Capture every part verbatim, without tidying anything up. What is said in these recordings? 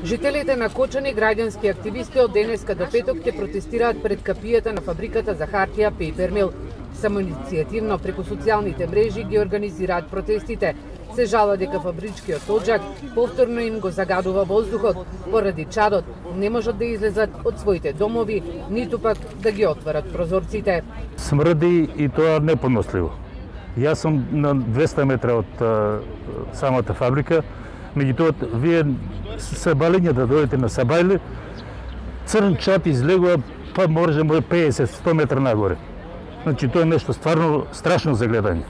Жителите на Кочани, граѓански активисти од денеска до петок ќе протестираат пред капијата на фабриката за хартија Paper Mill. Самоиницијативно преку социјалните мрежи ги организираат протестите. Се жала дека фабричкиот оджак повторно им го загадува воздухот, поради чадот не можат да излезат од своите домови, ниту пак да ги отворат прозорците. Смрди и тоа непоносливо. Јас сум на двеста метра од а, самата фабрика, меѓутоа вие се балење да дојдете на Сабајле, црн чад излегува, па може пеесет до сто метра нагоре. Значи тоа е нешто стварно страшно за гледање.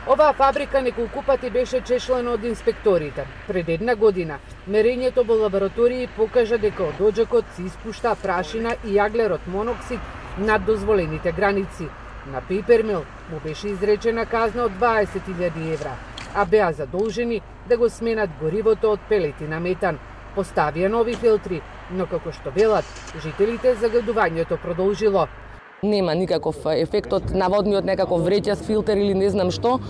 Оваа фабрика неколку пати беше чешлена од инспекторите. Пред една година мерењето во лаборатории покажа дека од оджакот се испушта прашина и јаглерод моноксид над дозволените граници. На Paper Mill му беше изречена казна од дваесет илјади евра, а беа задолжени да го сменат горивото од пелети на метан. Поставија нови филтри, но како што велат, жителите загадувањето продолжило. Нема никаков ефектот, наводниот некаков вреќа с филтер или не знам што.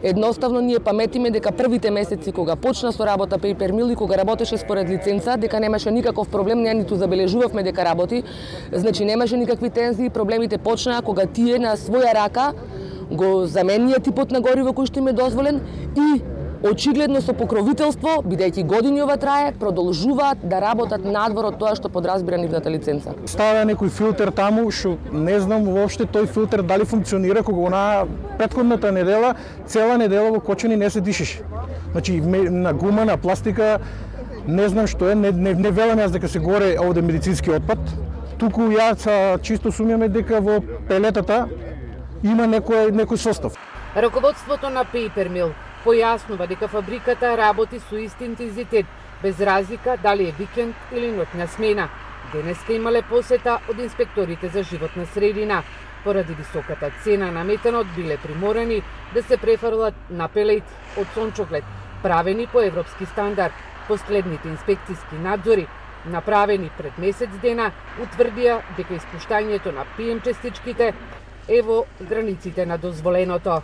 Едноставно ние паметиме дека првите месеци кога почна со работа Paper Mill и кога работеше според лиценца, дека немаше никаков проблем, ние ниту забележувавме дека работи. Значи немаше никакви тензии, проблемите почнаа кога тие на своја рака го заменија типот на гориво кој што им е дозволен и очигледно со покровителство, бидејќи години ова трае, продолжуваат да работат надвор од тоа што подразбира нивната лиценца. Ставя некој филтер таму, што не знам воопште тој филтер дали функционира, кога она претходната недела, цела недела во Кочани не се дишеше. Значи на гума, на пластика, не знам што е, не, не, не велам јас дека се горе овде медицински отпад. Туку јас чисто сумјаме дека во пелетата има некој некој состав. Раководството на Paper Mill појаснува дека фабриката работи со ист интензитет, без разлика дали е викенд или ноќна смена. Денеска имале посета од инспекторите за животна средина. Поради високата цена на метанот биле приморани да се префрлат на пелети од сончоглед, правени по европски стандард. Последните инспекцијски надзори, направени пред месец дена, утврдија дека испуштањето на пи ем частичките е во границите на дозволеното.